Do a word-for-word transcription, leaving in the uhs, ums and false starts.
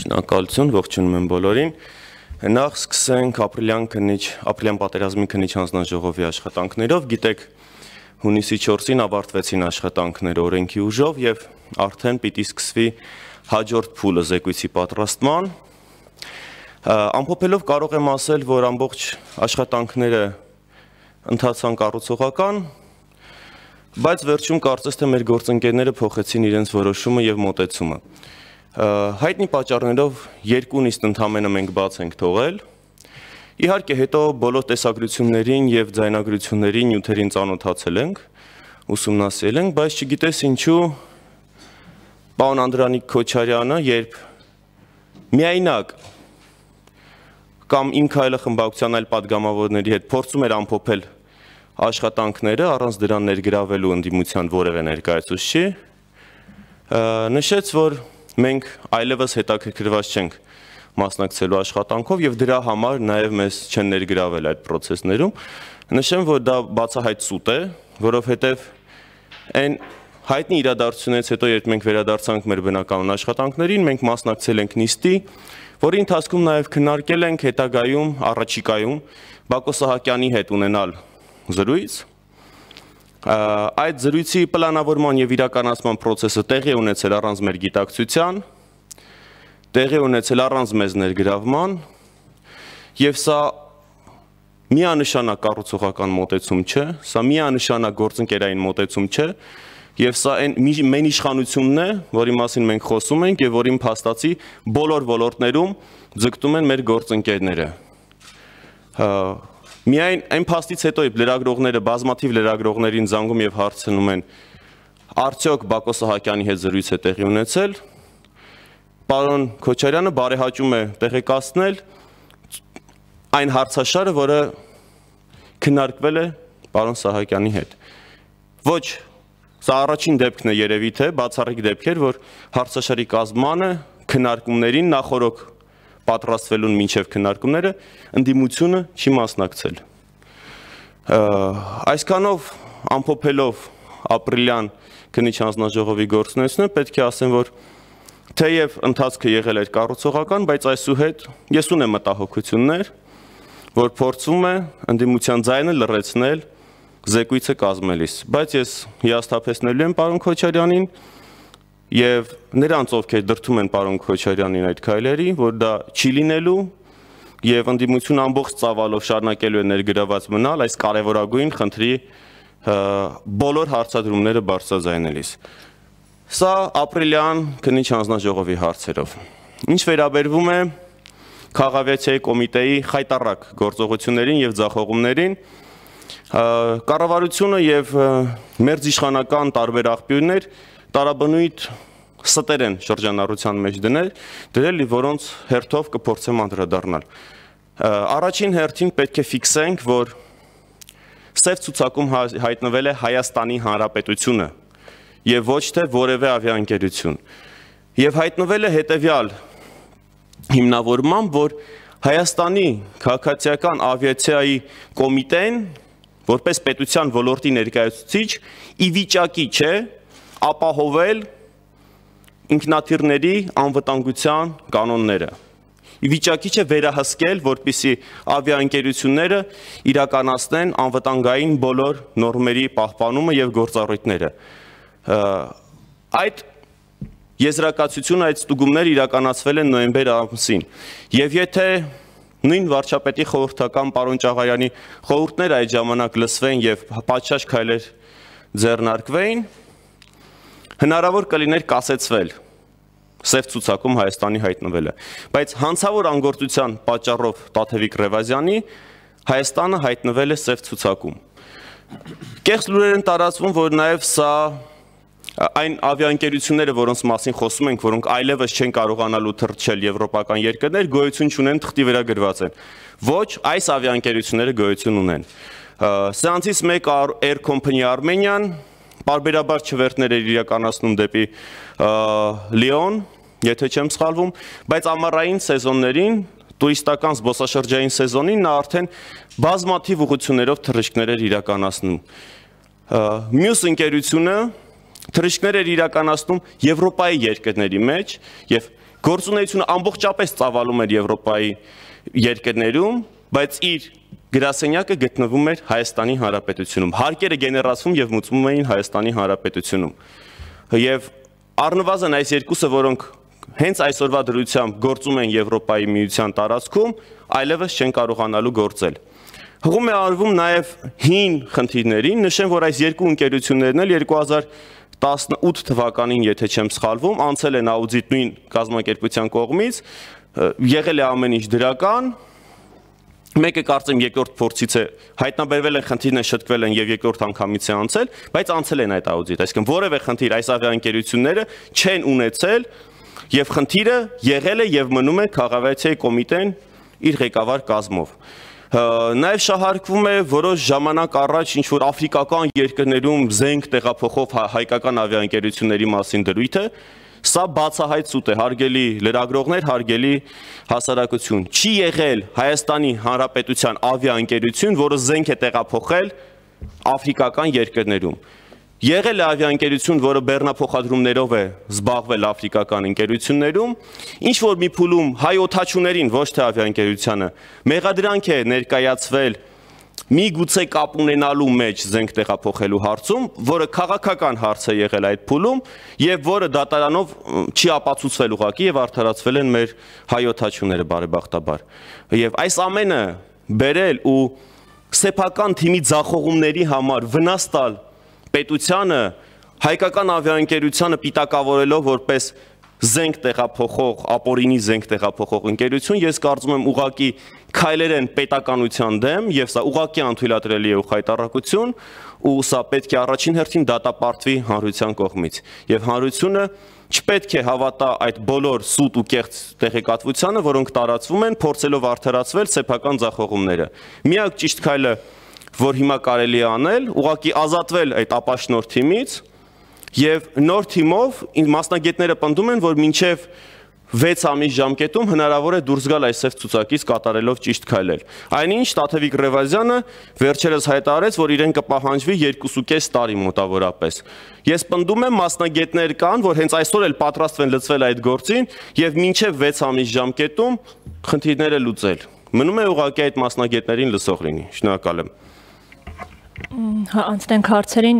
Շնորհակալություն, ողջունում եմ բոլորին։ Նախ սկսենք ապրիլյան քննիչ, ապրիլյան պատերազմի քննիչ հանձնաժողովի աշխատանքներով։ Գիտեք, հունիսի չորսին ավարտվեցին աշխատանքները օրենքի ուժով եւ արդեն պիտի սկսվի հաջորդ փուլը զեկույցի պատրաստման։ Ամփոփելով կարող եմ ասել, որ ամբողջ աշխատանքները ընթացան կառուցողական, բայց վերջում կարծես թե մեր գործընկերները փոխեցին իրենց որոշումը եւ մոտեցումը։ Հայտնի պատճառներով երկու նիստ ընդամենը մենք բաց ենք թողել։ Իհարկե հետո բոլոր տեսագրություններին եւ ձայնագրություններին նյութերին ծանոթացել ենք, ուսումնասիրել ենք, բայց չգիտես ինչու պարոն Անդրանիկ Քոչարյանը, երբ միայնակ կամ Իմ քայլը խմբակցության այլ падգամավորների հետ փորձում էր ամփոփել աշխատանքները առանց դրան ներգրավելու ընդդիմության որևէ ներկայացուցիչի, նշեց, որ մենք այլևս հետաքրքրված չենք մասնակցելու աշխատանքով եւ դրա համար նաեւ մեզ չեն ներգրավել այդ process-ներում։ Նշեմ, որ դա բացահայտ սուտ է, որովհետեւ այն հայտնի իրադարձությունից հետո, երբ մենք վերադարձանք մեր բնական աշխատանքներին, մենք մասնակցել ենք նիստի, որի ընթացքում նաեւ քննարկել ենք հետագայում, առաջիկայում Բակո Սահակյանի հետ ունենալ զրույց։ Այդ զրույցի պլանավորման եւ իրականացման process-ը տեղի է ունեցել առանց մեր գիտակցության, տեղի է ունեցել առանց մեզ ներգրավման, եւ սա միանշանակ կառուցողական մոտեցում չէ, սա միանշանակ գործընկերային մոտեցում չէ, եւ սա այն մեն իշխանությունն է, որի մասին մենք խոսում ենք եւ որին փաստացի բոլոր ոլորտներում ձգտում են մեր գործընկերները։ Միայն այն փաստից հետո լրագրողները բազմաթիվ լրագրողներին զանգում եւ հարցնում են, արդյոք Բակո Սահակյանի հետ զրույց է տեղի ունեցել, պարոն Քոչարյանը բարեհաճում է տեղեկացնել այն հարցաշարը, որը քննարկվել է պարոն Սահակյանի հետ։ Ոչ, սա առաջին դեպքն է երևի թե բացառիկ դեպք էր, որ հարցաշարի կազմանը քննարկումներին նախորոք պատրաստվելուն մինչև քննարկումները ընդդիմությունը չի մասնակցել։ Այսքանով ամփոփելով ապրիլյան քննիչ հանձնաժողովի գործունեությունը, պետք է ասեմ, որ թեև ընթացքը եղել էր կառուցողական, բայց այսուհետ ես ունեմ մտահոգություններ, որ փորձում է ընդդիմության ձայնը լռեցնել զեկույցը կազմելիս, բայց ես հիասթափեցնելու եմ պարոն Քոչարյանին եւ նրանց, ովքեր դրդում են պարոն Քոչարյանին այդ քայլերի, որ դա չի լինելու եւ ընդդիմություն ամբողջ ծավալով շարունակելու է ներգրաված մնալ այս կարեւորագույն խնդրի բոլոր հարցադրումները բարձրաձայնելիս։ Սա ապրիլյան քննիչ հանձնաժողովի հարցերով։ Ինչ վերաբերվում է Խաղաղավիացիայի կոմիտեի խայտառակ գործողություններին եւ ձախողումներին, կառավարությունը եւ մերձիշխանական տարբեր աղբյուրներ տարաբնույթ ստեր են շրջանառության մեջ դնել, դրել, որոնց հերթով կփորձեմ անդրադառնալ։ Առաջին հերթին պետք է ֆիքսենք, որ սև ցուցակում հայտնվել է Հայաստանի Հանրապետությունը եւ ոչ թե որևէ ավիաընկերություն։ Եվ հայտնվել է հետեւյալ հիմնավորմամբ, որ Հայաստանի քաղաքացիական ավիացիայի կոմիտեն, որպես պետության ոլորտի ներկայացուցիչ, ի վիճակի չէ ապահովել ինքնաթիռների անվտանգության կանոնները։ Ի վիճակի չէ վերահսկել, որպեսզի ավիաընկերությունները իրականացնեն անվտանգային բոլոր նորմերի պահպանումը եւ գործառույթները։ Այդ եզրակացությունը, այդ ստուգումները իրականացվել են նոյեմբեր ամսին։ Եվ եթե նույն վարչապետի խորհրդական պարոն Ճաղարյանի խորհուրդները այդ ժամանակ լսվեն եւ պատշաճ քայլեր ձեռնարկվեին, հնարավոր կլիներ կասեցվել սև ցուցակում Հայաստանի հայտնվելը, բայց հանցավոր անգործության պատճառով Տաթևիկ Ռևազյանի Հայաստանը հայտնվել է սև ցուցակում։ Կեղծ լուրեր են տարածվում, որ նաեւ սա այն ավիաընկերությունները, որոնց մասին խոսում ենք, որոնք այլևս չեն կարողանալու թռչել եվրոպական երկրներ, գոյություն չունեն, թղթի վրա գրված են։ Ոչ, այս ավիաընկերությունները գոյություն ունեն։ Սրանցից մեկը Air Company Armenian, պարբերաբար չվերթներ էր իրականացնում դեպի Լիոն, եթե չեմ սխալվում, բայց ամառային սեզոններին, տուրիստական զբոսաշրջային սեզոնին նա արդեն բազմաթիվ ուղղություններով թռիչքներ էր իրականացնում։ Մյուս ընկերությունը թռիչքներ էր իրականացնում Եվրոպայի երկրների մեջ եւ Գործունեությունը ամբողջապես ծավալում էր Եվրոպայի երկրներում, բայց իր գրասենյակը գտնվում էր Հայաստանի Հանրապետությունում։ Հարկերը գեներացվում եւ մուծվում էին Հայաստանի Հանրապետությունում։ Եվ առնվազն այս երկուսը, որոնք հենց այսօրվա դրությամբ գործում են Եվրոպայի միության տարածքում, այլևս չեն կարողանալու գործել։ Հղում է արվում նաև հին խնդիրներին, նշեմ, որ այս երկու ընկերություններն էլ երկու հազար տասնութ թվականին, եթե չեմ սխալվում, անցել են աուդիտ նույն կազմակերպության կողմից, եղել է ամեն ինչ դրական, մեկը կարծեմ երկրորդ փորձից է հայտնաբերվել են խնդիրն են շտկվել են եւ երկրորդ անգամից է անցել, բայց անցել են այդ աուդիտ, այսինքն որևէ խնդիր այս ավիաընկերությունները չեն ունեցել եւ խնդիրը եղել է եւ մնում է քաղաքացիայի կոմիտեն իր ղեկավար կազմով։ Նաև շահարկվում է որոշ ժամանակ առաջ ինչ-որ աֆրիկական երկրներում զենք տեղափոխող հայկական ավիաընկերությունների մասին դրույթը, սա բացահայտ սուտ է, հարգելի լրագրողներ, հարգելի հասարակություն, չի եղել Հայաստանի Հանրապետության ավիաընկերություն, որը զենք է տեղափոխել աֆրիկական երկրներում։ Եղել է ավիաընկերություն, որը բեռնափոխադրումներով է զբաղվել աֆրիկական ընկերություններում, ինչ որ մի փուլում հայ օդաչուներին, ոչ թե ավիաընկերությանը, մեղադրանք է ներկայացվել մի գուցե կապ ունենալու մեջ զենք տեղափոխելու հարցում, որը քաղաքական հարց է եղել այդ փուլում եւ որը դատարանով չի ապացուցվել ուղղակի եւ արդարացվել են մեր հայ օդաչուները բարեբախտաբար։ Եվ այս ամենը բերել ու սեփական թիմի ձախողումների համար վնաս տալ պետությանը հայկական ավիաընկերությանը պիտակավորելով որպես զենք տեղափոխող, ապօրինի զենք տեղափոխող ընկերություն, ես կարծում եմ ուղղակի քայլեր են պետականության դեմ եւ սա ուղղակի անթույլատրելի է ու խայտառակություն ու սա պետք է առաջին հերթին դատապարտվի հանրության կողմից եւ հանրությունը չպետք է հավատա այդ բոլոր սուտ ու կեղծ տեղեկատվությանը, որոնք տարածվում են, փորձելով արդարացվել սեփական ձախողումները։ Միակ ճիշտ քայլը, որ հիմա կարելի է անել, ուղղակի ազատվել այդ ապաշնորհ թիմից եւ նոր թիմով մասնագետները պնդում են, որ մինչեւ վեց ամիս ժամկետում հնարավոր է դուրս գալ այս ցուցակից կատարելով ճիշտ քայլեր։ Այնինչ Տաթևիկ Ռևազյանը վերջերս հայտարարեց, որ իրեն կպահանջվի երկուսուկես տարի մոտավորապես։ Ես պնդում եմ մասնագետներ կան, որ հենց այսօր էլ պատրաստ են լծվել այդ գործին եւ մինչեւ վեց ամիս ժամկետում խնդիրները լուծել։ Մնում է ուղղակի այդ մասնագետներին լսող լինի։ Շնորհակալ եմ։ Անցնենք հարցերին։